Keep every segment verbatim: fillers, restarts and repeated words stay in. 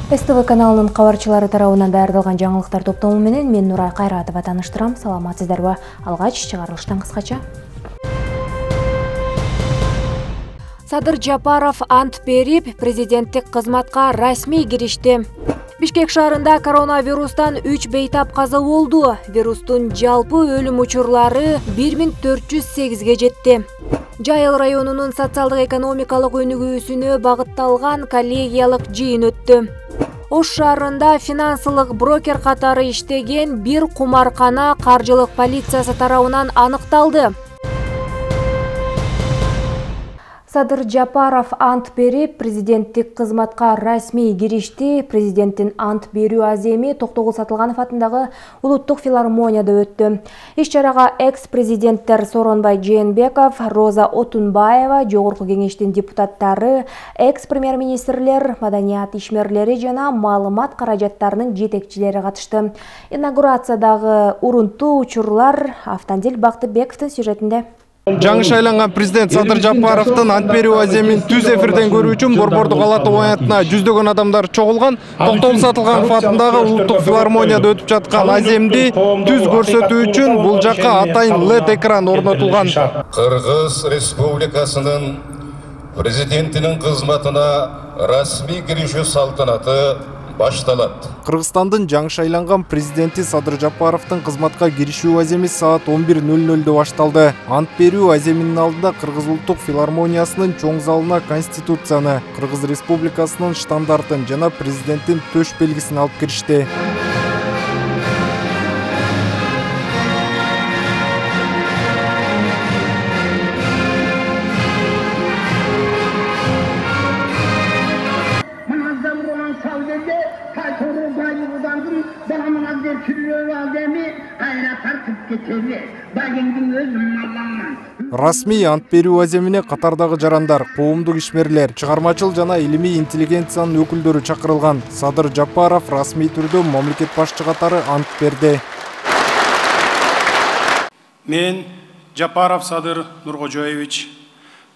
С Т В каналынын кабарчылары тарабынан даярдалган жаңылыктар топтому менен мен Нурай Кайратова тааныштырам. Саламатсыздарбы? Алгач чыгарылыштан кыскача. Садыр Жапаров ант берип, президенттик кызматка расмий киришти. Бишкек шаарында коронавирустан үч бейтап каза болду. Вирустун жалпы өлүм учурлары бир миң төрт жүз сегизге жетти. Жайыл районунун социалдык экономикалык өнүгүүсүнө багытталган коллегиялык жыйын өттү. Ош шаарында финансылык брокер катары иштеген бир кумаркана каржылык полициясы тарабынан аныкталды. Садыр Жапаров ант берип, президенттик кызматка расмий киришти. Президенттин ант берүү аземи Токтогул Сатылганов атындагы Улуттук филармонияда өттү. Иш-чарага экс-президенттер Сооронбай Жээнбеков, Роза Отунбаева, Жогорку кеңештин депутаттары, экс-премьер-министрлер, маданият ишмерлери жана маалымат каражаттарынын жетекчилери катышты. Инаугурациядагы урунтуу учурлар Автандил Бактыбековдун сюжетинде. Жаңы шайланган президент Садыр Жапаровдун ант берүү аземин түз эфирден көрүү үчүн Борбордук ала табаянатына жүздөгөн адамдар чогулган. Токтогул Сатылганов атындагы Улуттук филармонияда өтүп жаткан аземди түз көрсөтүү үчүн бул жакка атайын лед экран орнотулган. Кыргыз Республикасынын президентинин кызматына расмий киришүү салтанаты башталат. Кыргызстандын жаңы шайланган президенти Садыр Жапаровдун кызматка киришүү аземи саат он бир ноль нольдо башталды. Ант берүү аземинин алдында Кыргыз Улуттук филармониясынын чоң залына Конституцияны, Кыргыз Республикасынын штандартын жана президенттин төш белгисин алып киришти. Расмий ант берүү аземине катардагы жарандар, коомдук ишмерлер, чыгармачыл жана илимий интеллигенциянын өкүлдөрү чакырылган. Садыр Жапаров расмий түрдө мамлекет башчы катары ант берди. Мен Жапаров Садыр Нуркожоевич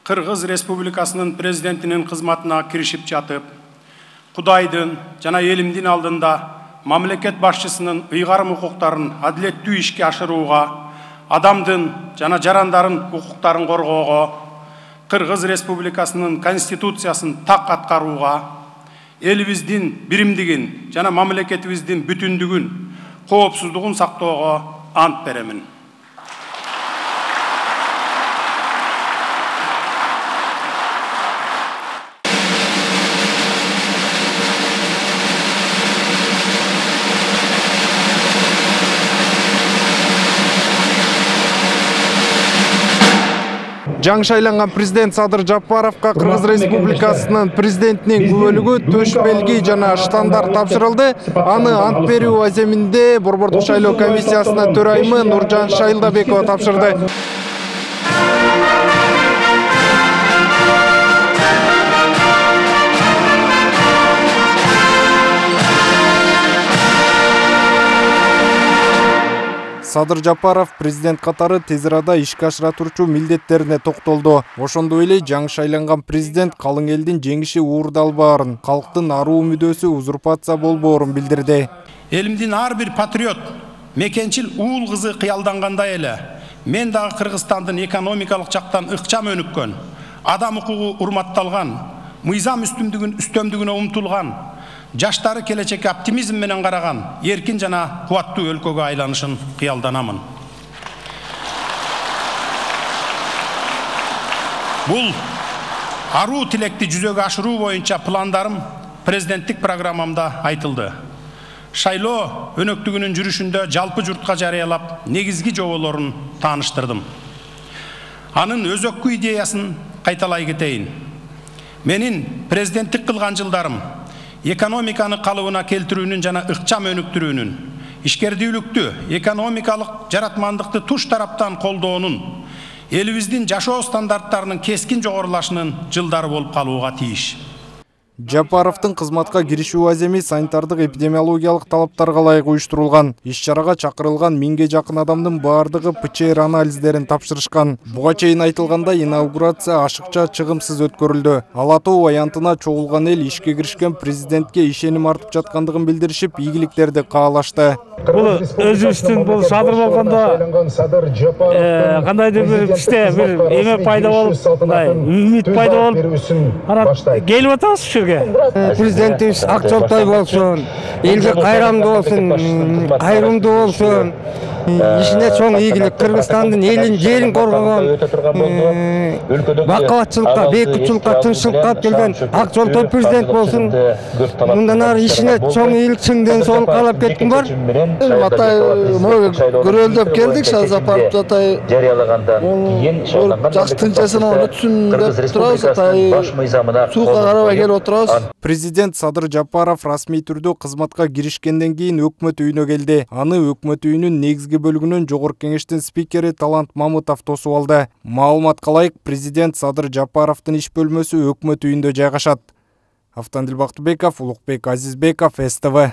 Кыргыз Республикасынын президентинин кызматына киришип жатып, Кудайдын жана элимдин алдында мамлекет башчысынын ыйгарым укуктарын адилеттүү ишке ашырууга, адамдын жана жарандардын укуктарын коргоого, Кыргыз Республикасынын Конституциясын так аткарууга, элибиздин биримдигин жана мамлекетибиздин бүтүндүгүн, коопсуздугун сактоого ант беремин. Жаңы шайланган президент Садыр Жапаровка Кыргыз Республикасынын президентинин күбөлүгү, төш белги жана штандарт тапшырылды. Аны ант берүү аземинде Борбордук шайлоо комиссиясынын төрайымы Нуржан Шайылдабекова тапшырды. Садыр Жапаров президент катары тез арада ишке ашыра турчу милдеттерине токтолду. Ошондой эле жаңы шайланган президент калың элдин жеңиши уурдалбаарын, калктын аруу мүдөөсү узурпация болбоорун билдирди. Элимдин ар бир патриот, мекенчил уул кызы кыялдангандай эле, мен дагы Кыргызстандын экономикалык жактан ыкчам өнүккөн, адам укугу урматталган, мыйзам үстүмдүгүн үстөмдүгүнө умтулган, жаштары келечекке оптимизм менен караган, эркин жана кубаттуу өлкөгө айланышын кыялданамын. Бул аруу тилекти жүзөгө ашыруу боюнча пландарым президенттик программамда айтылды. Шайлоо өнөктүгүнүн жүрүшүндө жалпы журтка жарыялап, негизги жоболорун тааныштырдым. Анын өзөккү идеясын кайталай кетейин. Менин президенттик кылган жылдарым экономиканы калыбына келтирүүнүн жана ыкчам өнүктүрүүнүн, ишкердүүлүктү, экономикалык жаратмандыкты туш тараптан колдоонун, элибиздин жашоо стандарттарынын кескин жогорулашынын жылдары болуп калууга тийиш. Жапаровдун кызматка киришүү аземи санитардык эпидемиологиялык талаптарга ылайык уюштурулган. Иш-чарага чакырылган миңге жакын адамдын баардыгы ПЧР анализдерин тапшырышкан. Буга чейин айтылгандай, инаугурация ашыкча, чыгымсыз өткөрүлдү. Ала Тоо аянтына чогулган эл ишке киришкен президентке ишеним артып жаткандыгын билдиришип, ийгиликтерди каалашты. Бул өзүбүздүн бул садыр болгондо кандайдыр бир иште бир эме пайда болуп, мындай үмүт пайда болуп, анан келип атабыз ушул жерге. Президентибиз ак жолтой болсун, элге кайрамдуу болсун, кайрымдуу болсун. Ишине чоң ийгилик, Кыргызстандын элин, жерин коргогон, бакубатчылыкка, бейкутчулукка, тынччылыкка алып келген ак жолтой президент болсун. Мындан ары ишине чоң ийгилик, чың ден соолук каалап кетким бар. Атай көрөлдөп келдик, Шазапаров атай жарыялагандан кийин жакшы тынчасынан өтсүн деп турабыз, атай суукка карабай келип отурабыз. Президент Садыр Жапаров расмий түрдө кызматка киришкенден кийин өкмөт үйүнө келди. Аны өкмөт үйүнүн негизги бөлүгүнөн Жогорку Кеңештин спикери Талант Мамытов тосуп алды. Маалыматка ылайык, президент Садыр Жапаровдун иш бөлмөсү өкмөт үйүндө жайгашат. Автандил Бактыбеков, Улукбек Азизбеков, эс тэ вэ.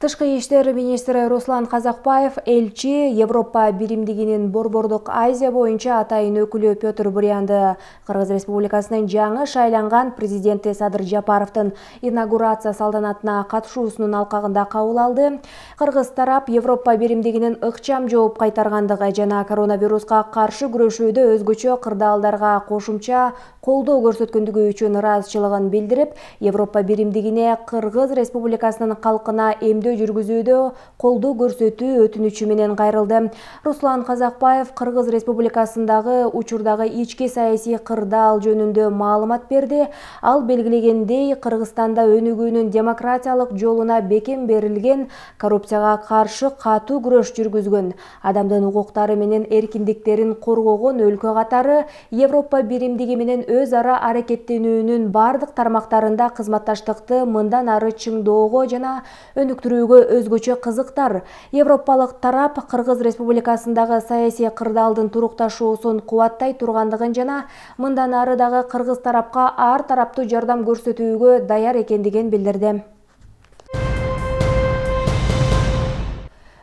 Тышкы иштер министри Руслан Казакбаев элчи Европа биримдигинин Борбордук Азия боюнча атайын өкүлү Петр Бурянды Кыргыз Республикасынын жаңы шайланган президенти Садыр Жапаровдун инаугурация салтанатына катышуусунун алкагында кабыл алды. Кыргыз тарап Европа биримдигинин ыкчам жооп кайтаргандыгы жана коронавируска каршы күрөшүүдө өзгөчө кырдаалдарга кошумча колдоо көрсөткөндүгү үчүн ыраазычылыгын билдирип, Европа биримдигине Кыргыз Республикасынын калкына эмдөө жүргүзүүдө колдоо көрсөтүү өтүнүчү менен кайрылды. Руслан Казакбаев Кыргыз Республикасындагы учурдагы ички саясий кырдаал жөнүндө маалымат берди. Ал белгилегендей, Кыргызстанда өнүгүүнүн демократиялык жолуна бекем берилген, коррупцияга каршы катуу күрөш жүргүзгөн, адамдын укуктары менен эркиндиктерин коргогон өлкө катары Европа биримдиги менен өз ара аракеттенүүнүн бардык тармактарында кызматташтыкты мындан ары чыңдоого жана өнүктүрүүгө өзгөчө кызыктар. Европалык тарап Кыргыз Республикасындагы саясий кырдаалдын турукташуусун кубаттай тургандыгын жана мындан ары дагы Кыргыз тарапка ар тараптуу жардам көрсөтүүгө даяр экендигин билдирди.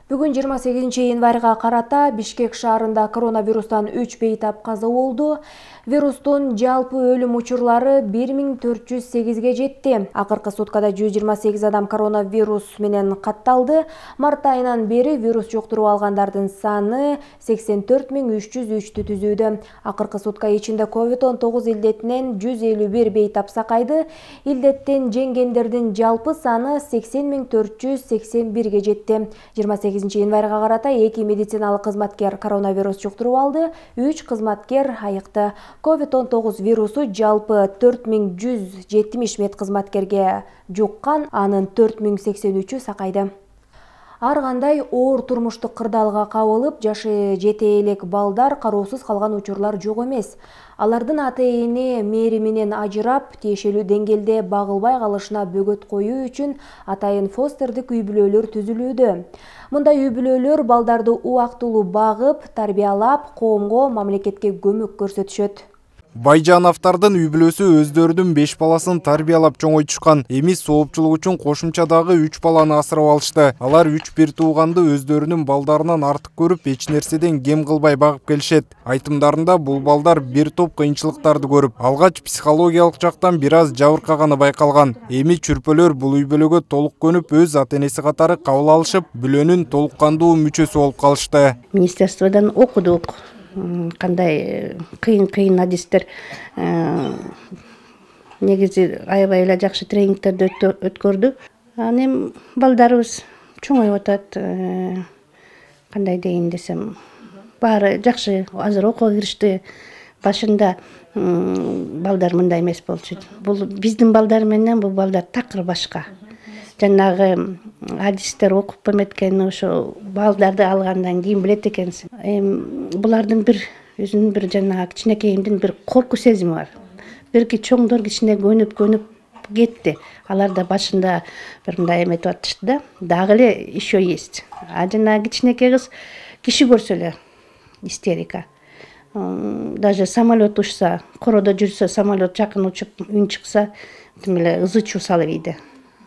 Бүгүн жыйырма сегизинчи январга карата Бишкек шаарында коронавирустан үч бейтап каза болду. Вирустун жалпы өлүм учурлары бир миң төрт жүз сегизге жетти. Акыркы суткада жүз жыйырма сегиз адам коронавирус менен катталды. Март айынан бери вирус жуктуруп алгандардын саны сексен төрт миң үч жүз үчтү түзүүдө. Акыркы сутка ичинде ковид он тогуз илдетинен жүз элүү бир бейтап сакайды. Илдеттен жеңгендердин жалпы саны сексен миң төрт жүз сексен бирге жетти. жыйырма сегизинчи январга карата эки медициналык кызматкер коронавирус жуктуруп алды, үч кызматкер айыкты. ковид он тогуз вирусу жалпы төрт миң жүз жетимиш медкызматкерге жуккан, анын төрт миң сексен үчү сакайды. Ар кандай оор турмуштук кырдаалга кабылып, жашы жете элек балдар кароосуз калган учурлар жок эмес. Алардын ата-эне мээриминен ажырап, тиешелүү деңгээлде багылбай калышына бөгөт коюу үчүн атайын фостердик үй-бүлөлөр түзүлүүдө. Мындай үй-бүлөлөр балдарды убактылуу багып, тарбиялап, коомго, мамлекетке көмөк көрсөтүшөт. Байжановдардын үй-бүлөсү өздөрүнүн беш баласын тарбиялап чоңойтушкан. Эми соопчулук үчүн кошумча дагы үч баланы асырап алышты. Алар үч бир тууганды өздөрүнүн балдарынан артык көрүп, эч нерседен кем кылбай багып келишет. Айтымдарында бул балдар бир топ кыйынчылыктарды көрүп, алгач психологиялык жактан бир аз жабыркаганы байкалган. Эми чүрпөлөр бул үй-бүлөгө толук көнүп, өз ата-энеси катары кабыл алышып, бүлөнүн толук кандуу мүчөсү болуп калышты. Министерстводон окудук. Кандай кыйын-кыйын адистер, негизи аябай эле жакшы тренингтерди өткөрдү. Анан эми балдарыбыз чоңоюп атат. Кандай дейин десем, баары жакшы, азыр окууга киришти. Башында балдар мындай эмес болчу. Бул биздин балдар менен бул балдар такыр башка. Жанагы адистер окуп эметкен, ошо балдарды алгандан кийин билет экенсиң. Эми булардын бир өзүнүн бир жанагы кичинекейимдин бир корку сезими бар. Бирки чоңдор кичине көнүп-көнүп кетти. Алар да башында бир мындай эметип атышты да, дагы эле еще есть. А жанагы кичинекей кыз киши көрсө эле истерика. даже самолет учса, короодо жүрсө, самолет жакын учуп үн чыкса, тим эле ызы чуу салып ийди.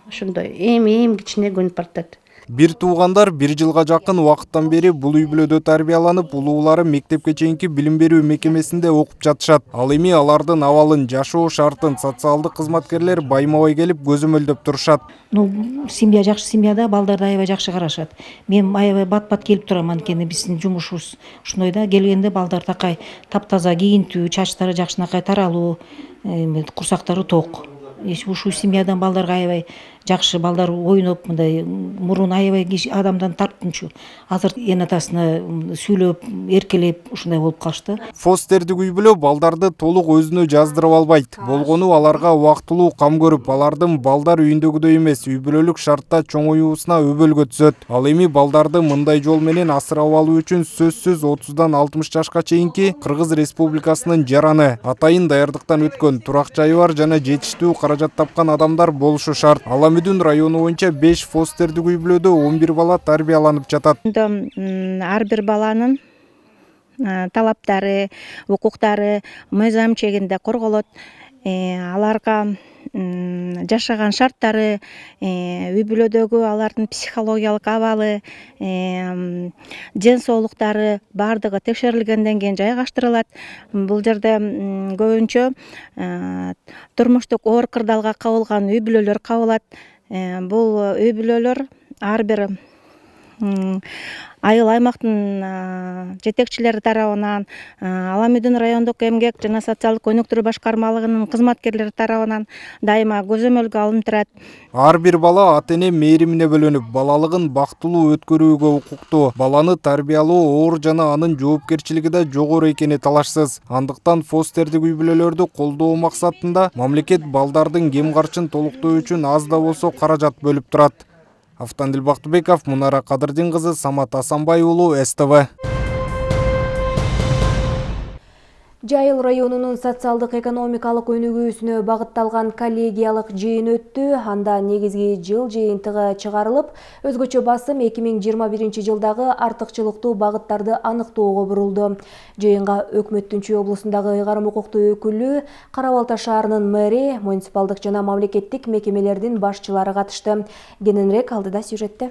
Ошондой эми-эми кичине көнүп баратат. Бир туугандар бир жылга жакын убакыттан бери бул үй бүлөдө тарбияланып, улуулары мектепке чейинки билим берүү мекемесинде окуп жатышат. Ал эми алардын абалын, жашоо шартын социалдык кызматкерлер байма-бай келип көзөмөлдөп турушат. Ну, семья жакшы семьяда балдарды аябай жакшы карашат. Мен аябай бат-бат келип турам, анткени биздин жумушубуз ушундай да, келгенде балдар такай таптаза кийинтүү, чачтары жакшынакай таралуу, курсактары ток. Ушул семьядан балдарга аябай жакшы, балдар ойноп, мындай мурун аябай адамдан тартынчу. Азыр эн атасына сүйлөп, эркелеп ушундай болуп калышты. Фостердик үй бүлө балдарды толук өзүнө жаздырып албайт. Болгону аларга убактылуу кам көрүп, алардын балдар үйүндөгүдөй эмес, үй бүлөлүк шартта чоңоюусуна өбөлгө түзөт. Ал эми балдарды мындай жол менен асырап алуу үчүн сөзсүз отуздан алтымыш жашка чейинки Кыргыз Республикасынын жараны, атайын даярдыктан өткөн, турак жайы бар жана жетиштүү каражат тапкан адамдар болушу шарт. Аламүдүн району боюнча беш фостердик үй бүлөдө он бир бала тарбияланып жатат. Ар бир баланын талаптары, укуктары мыйзам чегинде корголот. Аларга жашаган шарттары, үй бүлөдөгү алардын психологиялык абалы, ден соолуктары бардыгы текшерилгенден кийин жайгаштырылат. Бул жерде көбүнчө турмуштук оор кырдаалга кабылган үй бүлөлөр кабылат. Бул үй бүлөлөр ар бир айыл аймактын жетекчилери тарабынан, Аламүдүн райондук эмгек жана социалдык өнүктүрүү башкармалыгынын кызматкерлери тарабынан дайыма көзөмөлгө алынып турат. Ар бир бала ата-эне мээримине бөлөнүп, балалыгын бактылуу өткөрүүгө укуктуу. Баланы тарбиялоо оор жана анын жоопкерчилиги да жогору экени талашсыз. Андыктан фостердик үй бүлөлөрдү колдоо максатында мамлекет балдардын кем карчын толуктоо үчүн аз да болсо каражат бөлүп турат. Автандил Бактыбеков, Мунара Кадырдин кызы, Самат Асанбай уулу, эс тэ вэ. Жайыл районунун социалдык экономикалык өнүгүүсүнө багытталган коллегиялык жыйын өттү. Анда негизги жыл жыйынтыгы чыгарылып, өзгөчө басым эки миң жыйырма биринчи жылдагы артыкчылыктуу багыттарды аныктоого бурулду. Жыйынга Өкмөттүн Чүй облусундагы ыйгарым укуктуу өкүлү, Кара Балта шаарынын мэри, муниципалдык жана мамлекеттик мекемелердин башчылары катышты. Кененирээк алдыда сюжетте.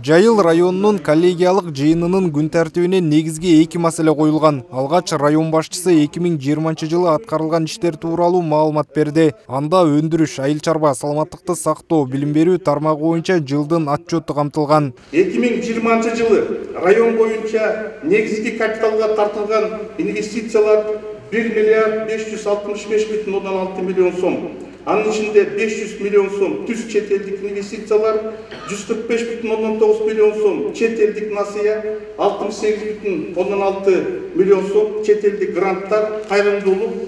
Жайыл районунун коллегиялык жыйынынын күн тартибине негизги эки маселе коюлган. Алгач район башчысы эки миң жыйырманчы жылы аткарылган иштер тууралуу маалымат берди. Анда өндүрүш, айыл чарба, саламаттыкты сактоо, билим берүү тармагы боюнча жылдын отчету камтылган. эки миң жыйырманчы жылы район боюнча негизги капиталга тартылган инвестициялар бир миллиард беш жүз алтымыш беш бүтүн ондон алты миллион сом. Анын ичинде беш жүз миллион сом түз чет элдик инвестициялар, жүз кырк беш бүтүн ондон тогуз миллион сом чет элдик насыя, алтымыш сегиз бүтүн ондон алты миллион сом чет элдик гранттар, кайрымдуулук,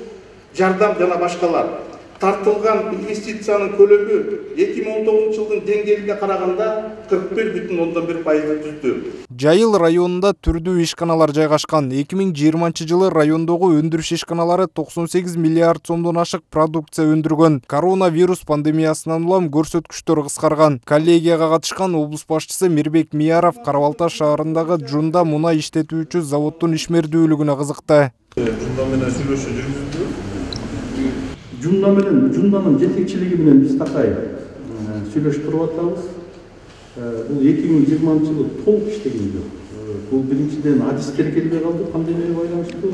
жардам жана башкалар. Тартылган инвестициянын көлөмү эки миң он тогузунчу жылдын деңгээлине караганда кырк бир бүтүн ондон бир пайызды түздү. Жайыл районунда түрдүү ишканалар жайгашкан. эки миң жыйырманчы жылы райондогу өндүрүш ишканалары токсон сегиз миллиард сомдон ашык продукция өндүргөн. Коронавирус пандемиясынан улам көрсөткүчтөр кыскарган. Коллегияга катышкан облус башчысы Мирбек Мияров Кара Балта шаарындагы Жунда мунай иштетүүчү заводдун ишмердүүлүгүнө кызыкты. Жунда менен сүйлөшүү жүргүздү. Жунда менен, Жунданын жетекчилиги менен биз такай сүйлөшүп туруп атабыз. Бул эки миң жыйырманчы жылы толук иштеген жок. Бул биринчиден адистер келбей калды пандемияга байланыштуу.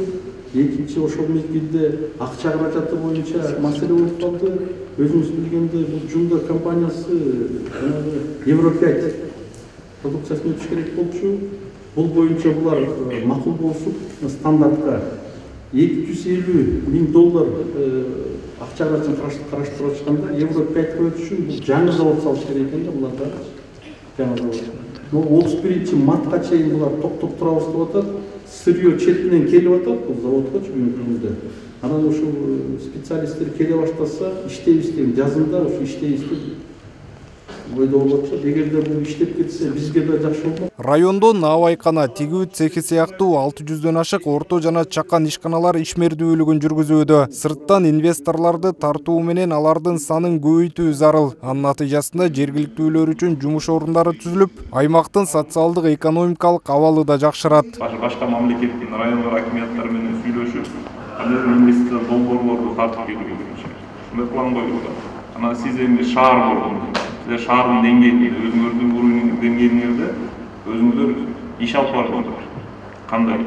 Экинчи ошол мезгилде акча каражаты боюнча маселе болуп калды. Өзүңүз билгендей, бул Жунда компаниясы Евро пять продукциясын өтүш керек болчу. Бул боюнча булар макул болушуп, стандартка эки жүз элүү миң доллар акча каражатын караштырып атышканда, Евро пять өтүшүн бул жаңы завод салыш керек экен да буларга. Жаңы завод. отуз биринчи мартка чейин булар токтоп турабыз деп атат. Сырьё четинен келип атат бул заводко бүгүнкү күндө. Анан ушул специалисттер келе баштаса, иштейбиз деп жазында ушу иштейбиз деп ойдо болуп атышат. Эгерде бул иштеп кетсе, бизге да жакшы болмок. Райондо наабайкана, тигүү цехи сыяктуу алты жүздөн ашык орто жана чакан ишканалар ишмердүүлүгүн жүргүзүүдө. Сырттан инвесторлорду тартуу менен алардын санын көбөйтүү зарыл. Анын натыйжасында жергиликтүүлөр үчүн жумуш орундары түзүлүп, аймактын социалдык экономикалык абалы да жакшырат. Башка мамлекеттин райондор акимияттары менен сүйлөшүп, кандайдыр инвестиция долбоорлорду тартып келүүгө болчу. Ушундай план коюлган. Анан сиз эми шаар болгон, сиздер шаардын деңгээлинде, өзүңөрдүн уровень деңгээлиңерде өзүңүздөр иш алып барасыңар. Кандай?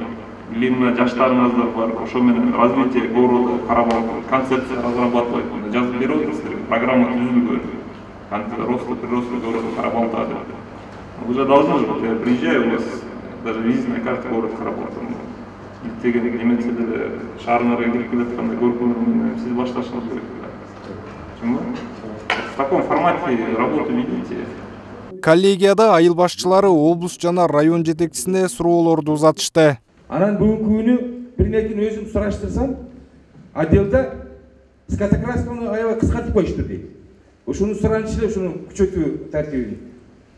Или мына жаштарыңыздар бар, ошо менен развитие города карап алып, концепция разрабатывать, жазып берип атасыздар, программа түзүлгөн. Рост прироста города карап алып. Уже должны же, я приезжаю, у вас даже визитная карта города карап алып. Деген немесе деле шаарыңарга кирип келатканда көргөнү менен сиз башташыңыз керек. В таком формате работу ведите. Коллегияда айыл башчылары облус жана район жетекчисине суроолорду узатышты. Анан бүгүнкү күнү бир нерсени өзүм сураштырсам, отделда скотокрасканы аябай кыскартып коюшту дейт. Ошону суранчы эле ушуну күчөтүү тартибин.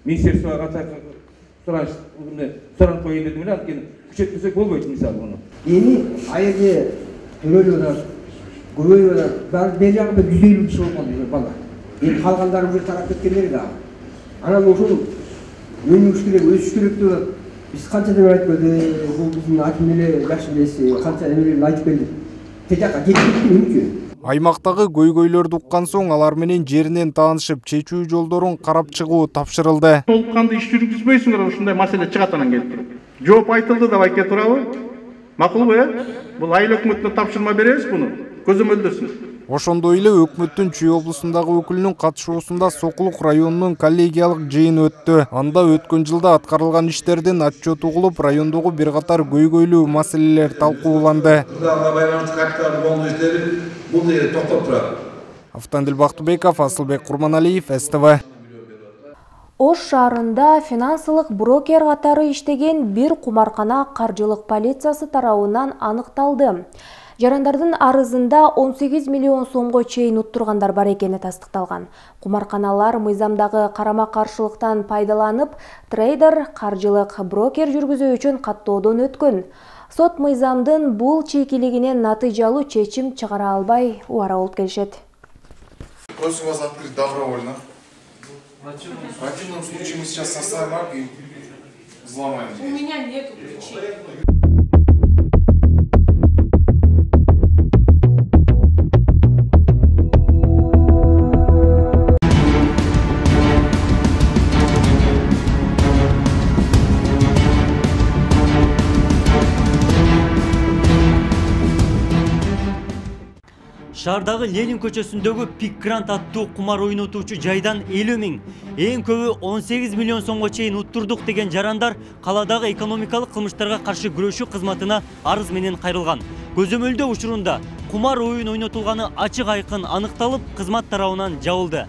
Министерствого суранч, суранып коюн дедим эле, анткени күчөтпөсөк болбойт мисалы муну. Эми айылда төрөлүп көбөйүп атат. Бери жагында жүз элүү киши болгон бала. Эми калгандары уже тарап кеткендер да. Анан ошол өнүгүш керек, өсүш керек деп атат. Биз канчадан айтып келдик, бул биздин аким эле жакшы элеси, канча эмелерди айтып келдик. Тежакка жетпейт эмнече? Аймактагы көйгөйлөрдү уккан соң алар менен жеринен таанышып, чечүү жолдорун карап чыгуу тапшырылды. Толук кандуу иш жүргүзбөйсүңөр, ушундай маселе чыгат анан келип туруп. Жооп айтылды деп айта турабы? Макулбу, э? Бул айыл өкмөтүнө тапшырма беребиз буну. Көзөмөлдөсүн. Ошондой эле өкмөттүн Чүй облусундагы өкүлүнүн катышуусунда Сокулук районунун коллегиялык жыйын өттү. Анда өткөн жылда аткарылган иштердин отчет угулуп, райондогу бир катар көйгөйлүү маселелер талкууланды. Автандил Бактыбеков, Асылбек Курманалиев, эс тэ вэ. Ош шаарында финансылык брокер катары иштеген бир кумаркана каржылык полициясы тарабынан аныкталды. Жарандардын арызында он сегиз миллион сомго чейин уттургандар бар экени тастыкталган. Кумарканалар мыйзамдагы карама-каршылыктан пайдаланып, трейдер, каржылык брокер жүргүзүү үчүн каттоодон өткөн. Сот мыйзамдын бул чийкилигинен натыйжалуу чечим чыгара албай убара болуп келишет. Просим вас открыть добровольно. В противном случае мы сейчас составим акт и взломаем. У меня нету ключей. Шаардагы Ленин көчөсүндөгү Пик Гранд аттуу кумар ойнотуучу жайдан элүү миң, эң көбү он сегиз миллион сомго чейин уттурдук деген жарандар каладагы экономикалык кылмыштарга каршы күрөшүү кызматына арыз менен кайрылган. Көзөмөлдөө учурунда кумар оюн ойнотулганы ачык айкын аныкталып, кызмат тарабынан жабылды.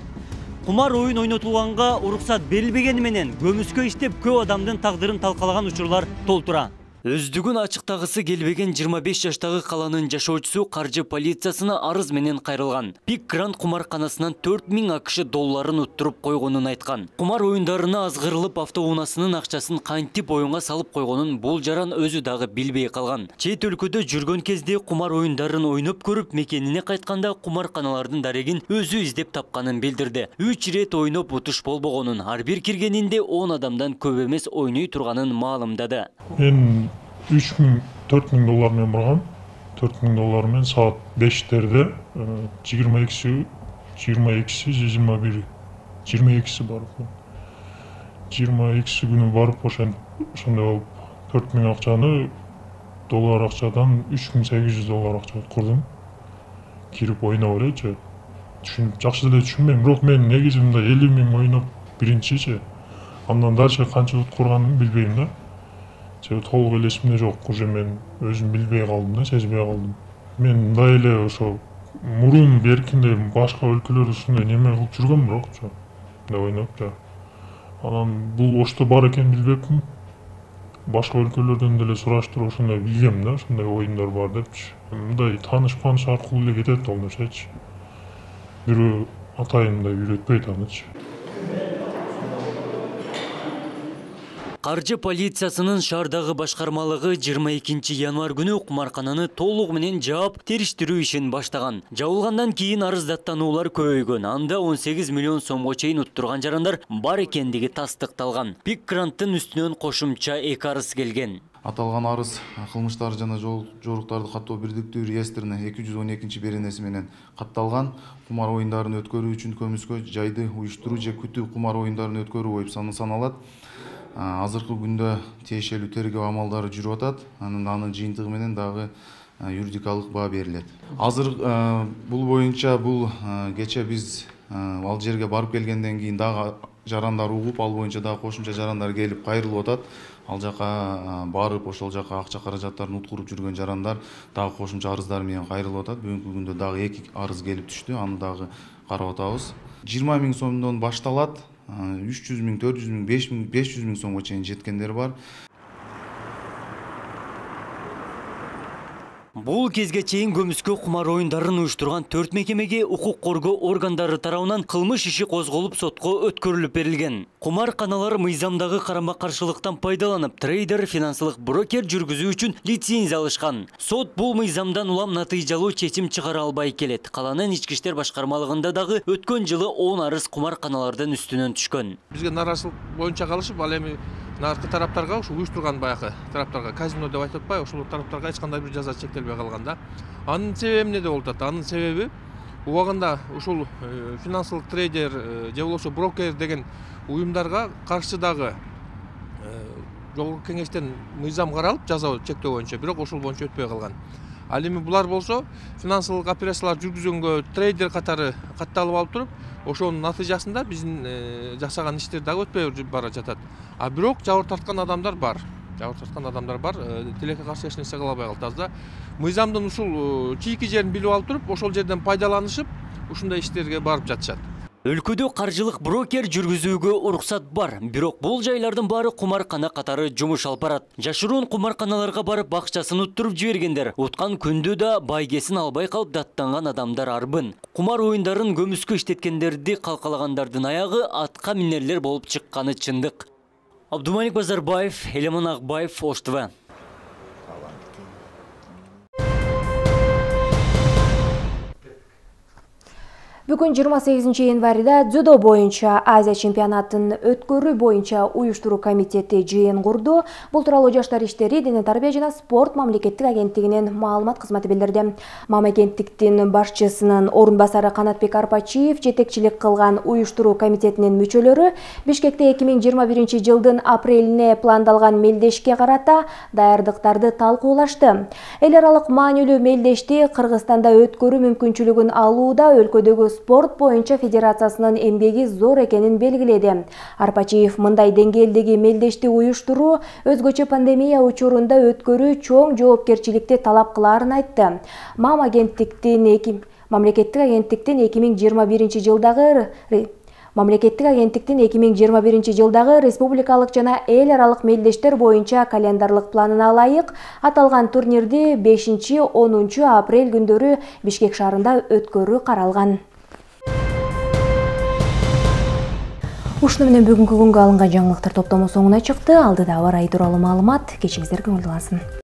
Кумар оюн ойнотулганга уруксат берилбегени менен көмүскө иштеп көп адамдын тагдырын талкалаган учурлар толтура. Өздүгүн ачыктагысы келбеген жыйырма беш жаштагы каланын жашоочусу каржы полициясына арыз менен кайрылган. Пик Гранд кумарканасынан төрт миң акш долларын уттуруп койгонун айткан. Кумар оюндарына азгырылып автоунаасынын акчасын кантип оюнга салып койгонун бул жаран өзү дагы билбей калган. Чет өлкөдө жүргөн кезде кумар оюндарын ойноп көрүп, мекенине кайтканда кумарканалардын дарегин өзү издеп тапканын билдирди. үч ирет ойноп утуш болбогонун, ар бир киргенинде он адамдан көп эмес ойной турганын маалымдады. үч миң төрт миң доллар менен баргам. төрт миң доллар менен саат бештерде жыйырма экиси жыйырма экиси жыйырма бир жыйырма экиси барып. жыйырма экиси күнү барып ошондой болуп төрт миң акчаны доллар акчадан үч миң сегиз жүз доллар акча курдум. Кирип ойноп элечи. Түшүн жакшы эле түшүнбөйм, бирок мен негизи мындай элүү миң ойноп биринчичи. Андан дальше канча ут курганымды билбейм да. Себеби толук эле эсимде жок, уже мен өзүм билбей калдым да, сезбей калдым. Мен мындай эле ошо мурун беркинде башка өлкөлөрдө ушундай неме кылып жүргөм, бирокчу мындай ойноп жа. Анан бул Ошто бар экенин билбепмин. Башка өлкөлөрдөн деле сураштырып ошондой билгем да, ушундай оюндар бар депчи. Мындай тааныш-пааныш аркылуу эле кетет ал нерсечи. Бирөө атайын мындай үйрөтпөйт анычы. Каржы полициясынын шаардагы башкармалыгы жыйырма экинчи январь күнү кумаркананы толугу менен жаап териштирүү ишин баштаган. Жабылгандан кийин арыздаттануулар көбөйгөн. Анда он сегиз миллион сомго чейин уттурган жарандар бар экендиги тастыкталган. Пик гранттын үстүнөн кошумча эки арыз келген. Аталган арыз кылмыштар жана жоруктарды каттоо бирдиктүү реестрине эки жүз он экинчи беренеси менен катталган. Кумар оюндарын өткөрүү үчүн көмүскө жайды уюштуруу же күтүү кумар оюндарын өткөрүү болуп саналат. Азыркы күндө тиешелүү тергөө амалдары жүрүп атат. Анын анын жыйынтыгы менен дагы юридикалык баа берилет. Азыр бул боюнча бул кече биз ал жерге барып келгенден кийин дагы жарандар угуп, ал боюнча дагы кошумча жарандар келип кайрылып атат. Ал жака барып, ошол жака акча каражаттарын уткуруп жүргөн жарандар дагы кошумча арыздар менен кайрылып атат. Бүгүнкү күндө дагы эки арыз келип түштү. Аны дагы карап атабыз. жыйырма миң сомдон башталат. үч жүз миң, төрт жүз миң, беш жүз миң сомго чейин жеткендер бар. Бул кезге чейин көмүскө кумар оюндарын уюштурган төрт мекемеге укук коргоо органдары тарабынан кылмыш иши козголуп сотко өткөрүлүп берилген. Кумарканалар мыйзамдагы карама-каршылыктан пайдаланып, трейдер, финансылык брокер жүргүзүү үчүн лицензия алышкан. Сот бул мыйзамдан улам натыйжалуу чечим чыгара албай келет. Каланын ички иштер башкармалыгында дагы өткөн жылы он арыз кумарканалардын үстүнөн түшкөн. Бизге наразылык боюнча калышып, ал эми наркы тараптарга, ушу уюштурган баягы тараптарга, казино деп айтып атпайбы, ошол тараптарга эч кандай бир жаза чектелбей калган да. Анын себеби эмнеде болуп атат? Анын себеби убагында ушул финансылык трейдер же болбосо брокер деген уюмдарга каршы дагы жогорку кеңештен мыйзам каралып, жаза чектөө боюнча, бирок ошол боюнча өтпөй калган. Ал эми булар болсо финансылык операциялар жүргүзгөнгө трейдер катары катталып алып туруп, ошонун натыйжасында биздин жасаган иштер дагы өтпөй бара жатат. А бирок жабыр тарткан адамдар бар. Жабыр тарткан адамдар бар. Тилекке каршы эч нерсе кыла албай калды азда. Мыйзамдын ушул чийки жерин билип алып туруп, ошол жерден пайдаланышып, ушундай иштерге барып жатышат. Өлкөдө каржылык брокер жүргүзүүгө уруксат бар, бирок бул жайлардын баары кумаркана катары жумуш алып барат. Жашыруун кумарканаларга барып бакчасын уттуруп жибергендер, уткан күндө да байгесин албай калып даттанган адамдар арбын. Кумар оюндарын көмүскө иштеткендерди калкалагандардын аягы атка минерлер болуп чыкканы чындык. Абдумалик Базарбаев, Элемон Акбаев, Ош ТВ. Бүгүн жыйырма сегизинчи январда дзюдо боюнча Азия чемпионатын өткөрүү боюнча уюштуруу комитети жыйын курду. Бул тууралуу Жаштар иштери, дене тарбия жана спорт мамлекеттик агенттигинин маалымат кызматы билдирди. Мам агенттиктин башчысынын орун басары Канатбек Арпачиев жетекчилик кылган уюштуруу комитетинин мүчөлөрү Бишкекте эки миң жыйырма биринчи жылдын апрелине пландалган мелдешке карата даярдыктарды талкуулашты. Эл аралык маанилүү мелдешти Кыргызстанда өткөрүү мүмкүнчүлүгүн алууда өлкөдөгү спорт боюнча федерациясынын эмгеги зор экенин белгиледи. Арпачиев мындай деңгээлдеги мелдешти уюштуруу өзгөчө пандемия учурунда өткөрүү чоң жоопкерчиликти талап кылаарын айтты. Мам агенттиктин мамлекеттик агенттиктин эки миң жыйырма биринчи жылдагы Мамлекеттик агенттиктин эки миң жыйырма биринчи жылдагы республикалык жана эл аралык мелдештер боюнча календарлык планына ылайык аталган турнирди бешинчи онунчу апрель күндөрү Бишкек шаарында өткөрүү каралган. Ушуну менен бүгүнкү күнгө алынган жаңылыктар топтому соңуна чыкты. Алдыда аба ырайы тууралуу маалымат. Кечиңиздер көңүл алсын.